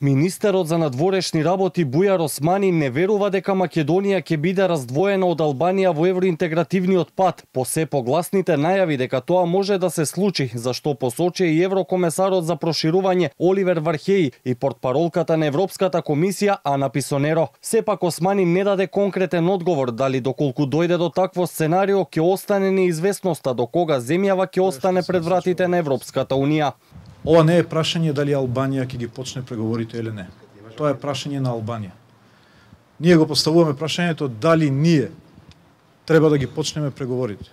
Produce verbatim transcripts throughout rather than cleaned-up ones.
Министерот за надворешни работи Бујар Османи не верува дека Македонија ќе биде раздвоена од Албанија во евроинтегративниот пат, по се погласните најави дека тоа може да се случи, зашто посочи и еврокомесарот за проширување Оливер Вархеи и портпаролката на Европската комисија Ана Писонеро. Сепак Османи не даде конкретен одговор дали доколку дојде до такво сценарио ќе остане неизвестноста до кога земјава ќе остане пред вратите на Европската унија. Ова не е прашање дали Албанија ќе ги почне преговорите или не. Тоа е прашање на Албанија. Ние го поставуваме прашањето дали ние треба да ги почнеме преговорите.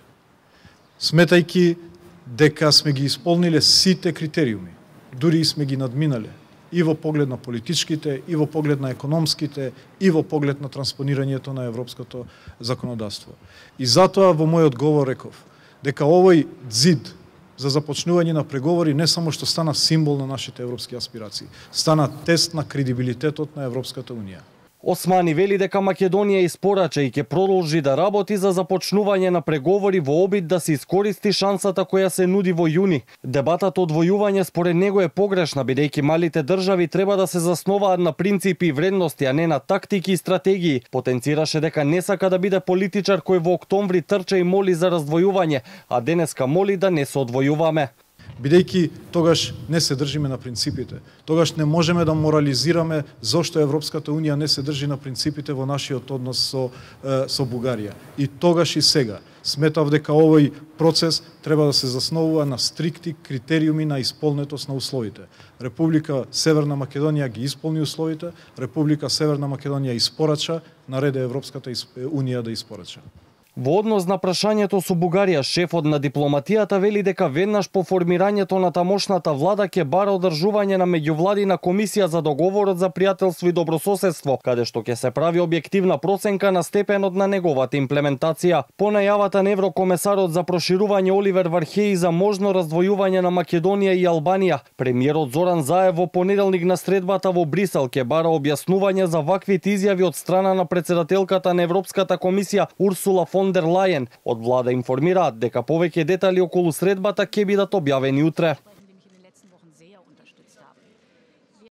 Сметајќи дека сме ги исполниле сите критериуми, дури и сме ги надминале, и во поглед на политичките, и во поглед на економските, и во поглед на транспонирањето на европското законодавство. И затоа во мојот говор реков дека овој ѕид за започнување на преговори не само што стана символ на нашите европски аспирации, стана тест на кредибилитетот на Европската унија. Османи вели дека Македонија испорача и ќе продолжи да работи за започнување на преговори во обид да се искористи шансата која се нуди во јуни. Дебатата од војување според него е погрешна, бидејќи малите држави треба да се засноваат на принципи и вредности, а не на тактики и стратегии. Потенцираше дека не сака да биде политичар кој во октомври трча и моли за раздвојување, а денеска моли да не се одвојуваме. Бидејќи тогаш не се држиме на принципите, тогаш не можеме да морализираме зошто Европската унија не се држи на принципите во нашиот однос со, со Бугарија. И тогаш и сега сметав дека овој процес треба да се засновува на стрикти критериуми на исполнетост на условите. Република Северна Македонија ги исполни условите, Република Северна Македонија испорача, нареде Европската унија да испорача. Во однос на прашањето со Бугарија, шефот на дипломатијата вели дека веднаш по формирањето на тамошната влада ќе бара одржување на меѓувладина комисија за договорот за пријателство и добрососедство, каде што ќе се прави објективна проценка на степенот на неговата имплементација. По најавата на еврокомесарот за проширување Оливер Вархеи за можно раздвојување на Македонија и Албанија, премиерот Зоран Заев во понеделник на средбата во Брисел ќе бара објаснување за ваквите изјави од страна на претседателката на Европската комисија Урсула фон дер Лајен. Од влада информираат дека повеќе детали околу средбата ќе бидат објавени утре.